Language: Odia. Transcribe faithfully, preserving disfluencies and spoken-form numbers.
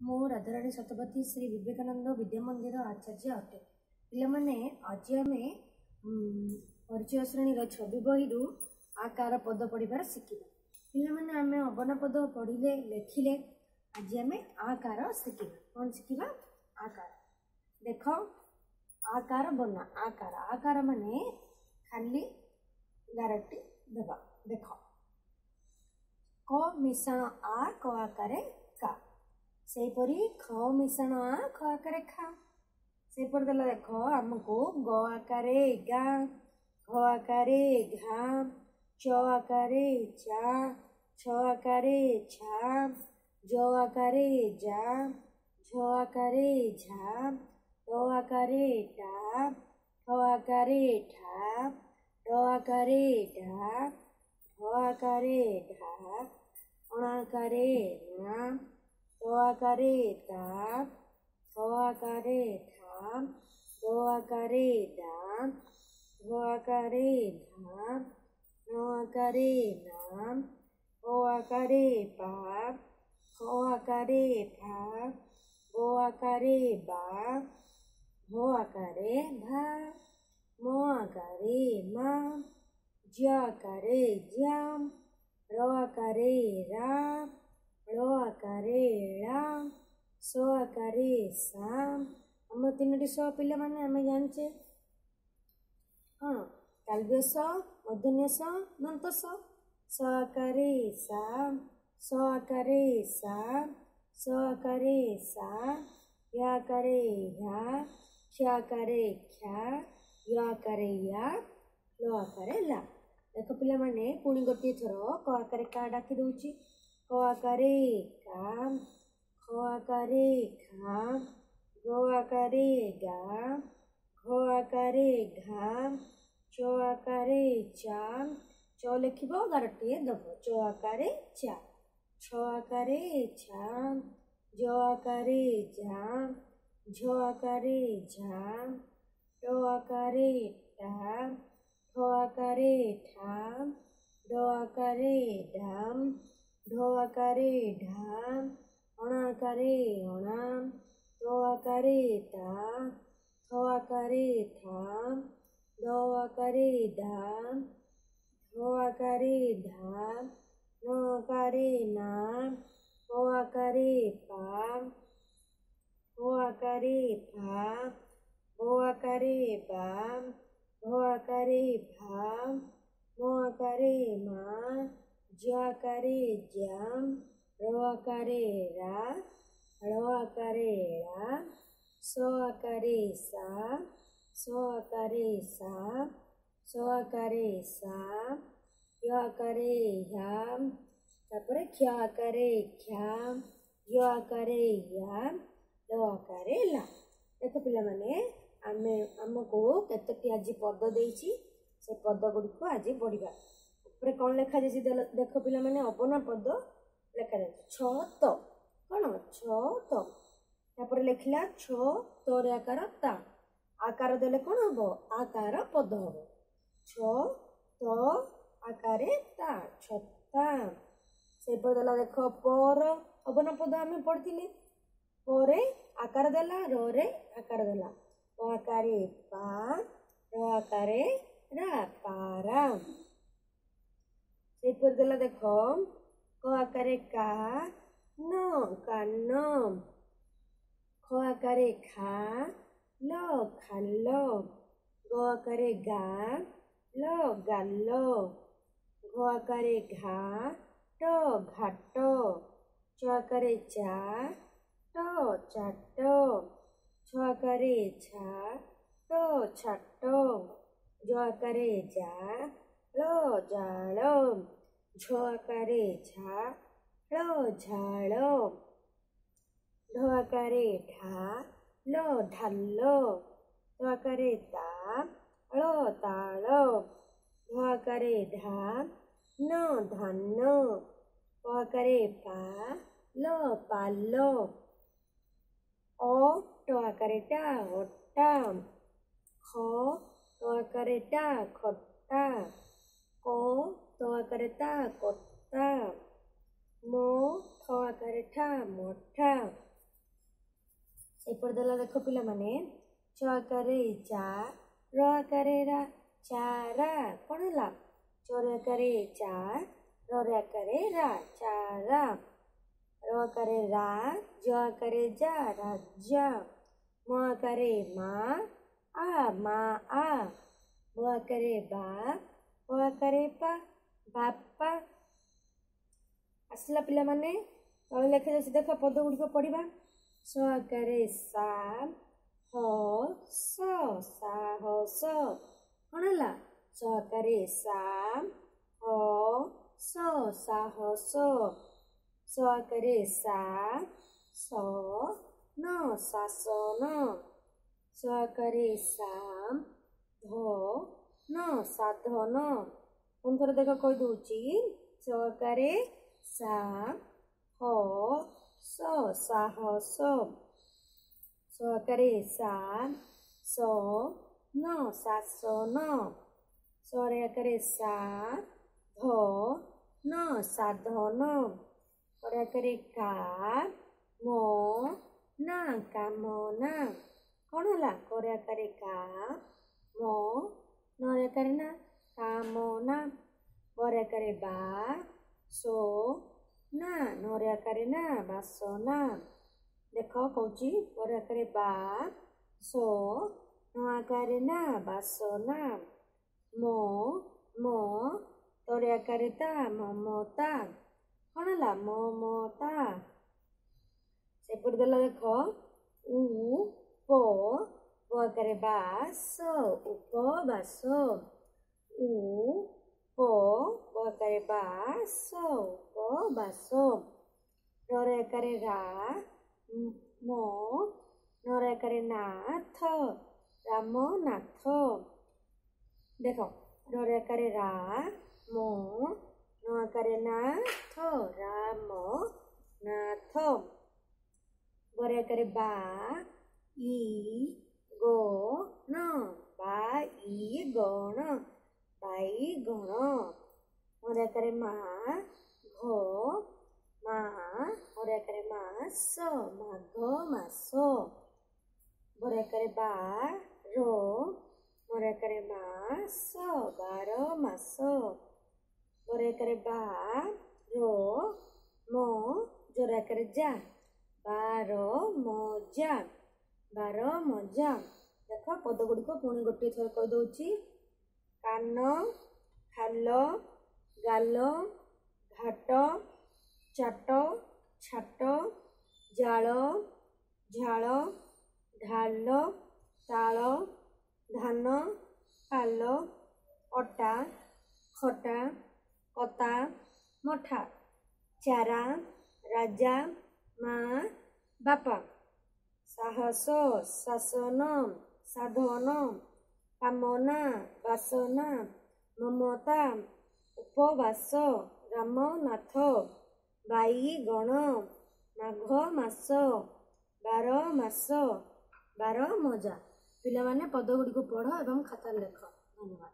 ମୁଁ ରାଧାରାଣୀ ଶତପଥୀ ଶ୍ରୀ ବିବେକାନନ୍ଦ ବିଦ୍ୟା ମନ୍ଦିର ଆଚାର୍ଯ୍ୟ ଅଟେ। ପିଲାମାନେ, ଆଜି ଆମେ ପରିଚୟ ଶ୍ରେଣୀର ଛବି ବହିରୁ ଆକାର ପଦ ପଢ଼ିବାର ଶିଖିବା। ପିଲାମାନେ, ଆମେ ଅବନା ପଦ ପଢ଼ିଲେ, ଲେଖିଲେ, ଆଜି ଆମେ ଆକାର ଶିଖିବା। କ'ଣ ଶିଖିବା? ଆକାର। ଦେଖ, ଆକାର ବନା। ଆକାର, ଆକାର ମାନେ ଖାଲି ଗାରଟି ଦେବା। ଦେଖ, କ ମିଶାଣ ଆ, କ ଆକାରେ କା। ସେହିପରି ଖ ମିଶାଣ ଆ, ଖ ଆକାରେ ଖା। ସେହିପରି ଦେଲା ଦେଖ ଆମକୁ ଗ ଆକାରେ ଗା, ଘ ଆକାରେ ଘା, ଚ ଆକାରେ ଚା, ଛ ଆକାରେ ଛା, ଜ ଆକାରେ ଯା, ଝ ଆକାରେ ଝା, ଟ ଆକାରେ ଟା, ଠ ଆକାରେ ଠା, ଡ଼ ଆକାରେ ଢା, ଢ ଆକାରେ ଢା, ଅଣ ଆକାରେ ଣା, ତ ଆକାରେ ତା, ଥ ଆକାରେ ଥା, ଦ ଆକାରେ ଦା, ଧ ଆକାରେ ଧା, ନ ଆକାରେ ନା, ପ ଆକାରେ ପା, ଫ ଆକାରେ ଫା, ବ ଆକାରେ ବା, ଭ ଆକାରେ ଭା, ମ ଆକାରେ ମା, ଜ ଆକାରେ ଜ୍ୟା, ର ଆକାରେ ରା, ଳ ଆକାରେ ଳା, ସ ଆକାରେ ସା। ଆମର ତିନୋଟି ସ ପିଲାମାନେ ଆମେ ଜାଣିଛେ କ'ଣ? ତାଲବ୍ୟ ସ, ମୂର୍ଦ୍ଧନ୍ୟ ସ, ଦନ୍ତ ସ। ସ ଆକାରେ ସା, ସ ଆକାରେ ସା, ସ ଆକାରେ ସା, ୟ ଆକାରେ ହ୍ୟା, କ୍ଷ ଆକାରେ କ୍ଷା, ୟ ଆକାରେ ୟା, ଲ ଆକାରେ ଲା। ଦେଖ ପିଲାମାନେ, ପୁଣି ଗୋଟିଏ ଥର କ ଆକାରେ କା ଡାକି ଦେଉଛି। କ ଆକାରେ କା, ଖ ଆକାରେ ଖା, ଗ ଆକାରେ ଗା, ଘ ଆକାରେ ଘା, ଚ ଆକାରେ ଚା। ଚ ଲେଖିବ, ଗାରଟିଏ ଦେବ, ଚ ଆକାରେ ଚା। ଛ ଆକାରେ ଛା, ଜ ଆକାରେ ଝା, ଝ ଆକାରେ ଝା, ଟ ଆକାରେ ଟା, ଠ ଆକାରେ ଠା, ଡ଼ ଆକାରେ ଢା, ଢ ଆକାରେ ଢା, ଅଣ ଆକାରେ ଅଣା, ତ ଆକାରେ ତା, ଥ ଆକାରେ ଥା, ଦ ଆକାରେ ଦା, ଧ ଆକାରେ ଧା, ନ ଆକାରେ ନା, ପ ଆକାରେ ପା, ଫ ଆକାରେ ଫା, ବ ଆକାରେ ବା, ଭ ଆକାରେ ଭା, ମ ଆକାରେ ମା, ଜ ଆକାରେ ଜ୍ୟା, ର ଆକାରେ ରା, ଳ ଆକାରେ ଳା, ସ ଆକାରେ ସା, ସ ଆକାରେ ସା, ସ ଆକାରେ ସା, ୟ ଆକାରେ ହ୍ୟା, ତାପରେ କ୍ଷ ଆକାରେ କ୍ଷା, ୟ ଆକାରେ ୟା, ଲ ଆକାରେ ଲା। ଦେଖ ପିଲାମାନେ, ଆମେ ଆମକୁ କେତୋଟି ଆଜି ପଦ ଦେଇଛି, ସେ ପଦ ଗୁଡ଼ିକୁ ଆଜି ପଢ଼ିବା। ଉପରେ କ'ଣ ଲେଖାଯାଇଛି ଦେଖ ପିଲାମାନେ, ଅବନା ପଦ ଲେଖାଯାଇଛି ଛ ତ। କ'ଣ? ଛ ତ। ତାପରେ ଲେଖିଲା ଛ ତରେ ଆକାର ତା, ଆକାର ଦେଲେ କ'ଣ ହବ? ଆକାର ପଦ ହବ। ଛ ତ ଆକାରେ ତା, ଛତା। ସେପରି ଦେଲା ଦେଖ ପର ଅବନା ପଦ ଆମେ ପଢ଼ିଥିଲେ। ପରେ ଆକାର ଦେଲା, ରରେ ଆକାର ଦେଲା। ପ ଆକାରେ ପା, ର ଆକାରେ ରା, ପାରା। ସେପରି ଦେଲା ଦେଖ କ ଆକାରେ କା, ନ, କାନ। ଖ ଆକାରେ ଖା, ଲ, ଖାଲ। ଗ ଆକାରେ ଗା, ଲ, ଗାଲ। ଘ ଆକାରେ ଘା, ଟ, ଘାଟ। ଚ ଆକାରେ ଚା, ଟ, ଚାଟ। ଛ ଆକାରେ ଛା, ଟ, ଛାଟ। ଜ ଆକାରେ ଯା, ଳ, ଜାଳ। ଝ ଆକାରେ ଝା, ଳ, ଝାଳ। ଢ ଆକାରେ ଢା, ଲ, ଢାଲ। ତ ଆକାରେ ତା, ଳ, ତାଳ। ଧ ଆକାରେ ଢା, ନ, ଧାନ। ପ ଆକାରେ ପା, ଲ, ପାଲ। ଅ ଟ ଆକାରେ ଟା, ଅଟା। ଖ ଟ ଆକାରେ ଟା, ଖଟା। କ ତ ଆକାରେ ତା, କତା। ମ ଠ ଆକାରେ ଠା, ମଠା। ସେପଟେ ଦେଲା ଦେଖ ପିଲାମାନେ, ଚ ଆକାରେ ଚା, ର ଆକାରେ ରା, ଚାରା। କ'ଣ ହେଲା? ଚ ରେ ଆକାରେ ଚା, ର ରେ ଆକାରେ ରା, ଚାରା। ର ଆକାରେ ରା, ଜ ଆକାରେ ଯା, ରାଜା। ମ ଆକାରେ ମା, ଆ, ମା ଆ। ବ ଆକାରେ ବା, ପ ଆକାରେ ପା, ବାପା। ଆସିଲା ପିଲାମାନେ? ତଳେ ଲେଖାଯାଇଛି ଦେଖ, ପଦ ଗୁଡ଼ିକ ପଢ଼ିବା। ସ ଆକାରେ ସା, ହ ସ, ସାହସ। କ'ଣ ହେଲା? ସ ଆକାରେ ସା, ହ ସ, ସାହସ। ସ ଆକାରେ ସା, ସ ନ, ଶାସନ। ସ ଆକାରେ ସା, ଧ ନ, ସାଧନ। ପୁଣି ଥରେ ଦେଖ କହିଦେଉଛି। ସ ଆକାରେ ସା, ହ ସ, ସାହସ। ସ ଆକାରେ ସା, ସ ନ, ଶାସନ। ସ ରେ ଆକାରେ ସା, ଧ ନ, ସାଧନ। କ ରେ ଆକାରେ କା, ମ ନା, କାମନା। କ'ଣ ହେଲା? କ ରେ ଆକାରେ କା, ମ, ନ ରେ ଆକାରେ ନା, କାମନା। ବ ରେ ଆକାରେ ବା, ସୋ ନା, ନ ରେ ଆକାରେ ନା, ବାସନା। ଦେଖ କହୁଛି, ବ ରେ ଆକାରେ ବା, ସୋ, ନ ଆକାରେ ନା, ବାସନା। ମ, ମ, ତ ରେ ଆକାରେ ତା, ମମତା। କ'ଣ ହେଲା? ମମତା। ସେପଟେ ଦେଲା ଦେଖ, ଉ ପ, ବ ଆକାରେ ବା, ସ, ଉପବାସ। ଉ ପ, ବ ଆକାରେ ବା, ସ, ଉପବାସ। ର ରେ ଆକାରେ ରା, ମ, ନ ରେ ଆକାରେ ନାଥ, ରାମନାଥ। ଦେଖ, ର ରେ ଆକାରେ ରା, ମ, ନ ଆକାରେ ନାଥ, ରାମ ନାଥ। ବ ରେ ଆକାରେ ବା, ଇ, ଗ, ଣ, ବାଇଗଣ, ବାଇଗଣ। ମ ରେ ଆକାରେ ମା, ଘ, ମା, ମ ରେ ଆକାରେ ମା, ସ, ମାଘ ମାସ। ବ ରେ ଆକାରେ ବା, ର, ମ ରେ ଆକାରେ ମା, ସ, ବାର ମାସ। ବ ରେ ଆକାରେ ବା, ର, ମ, ଜ ରେ ଆକାରେ ଯା, ବାର ମଜା, ବାର ମଜା। ଦେଖ ପଦ ଗୁଡ଼ିକ ପୁଣି ଗୋଟିଏ ଥର କହିଦେଉଛି। କାନ, ଖାଲ, ଗାଲ, ଘାଟ, ଚାଟ, ଛାଟ, ଜାଳ, ଝାଳ, ଢାଲ, ତାଳ, ଧାନ, ପାଲ, ଅଟା, ଖଟା, କତା, ମଠା, ଚାରା, ରାଜା, ମା, ବାପା, ସାହସ, ଶାସନ, ସାଧନ, କାମନା, ବାସନା, ମମତା, ଉପବାସ, ରାମନାଥ, ବାଇଗଣ, ମାଘ ମାସ, ବାର ମାସ, ବାର ମଜା। ପିଲାମାନେ ପଦ ଗୁଡ଼ିକୁ ପଢ଼ ଏବଂ ଖାତାରେ ଲେଖ। ଧନ୍ୟବାଦ।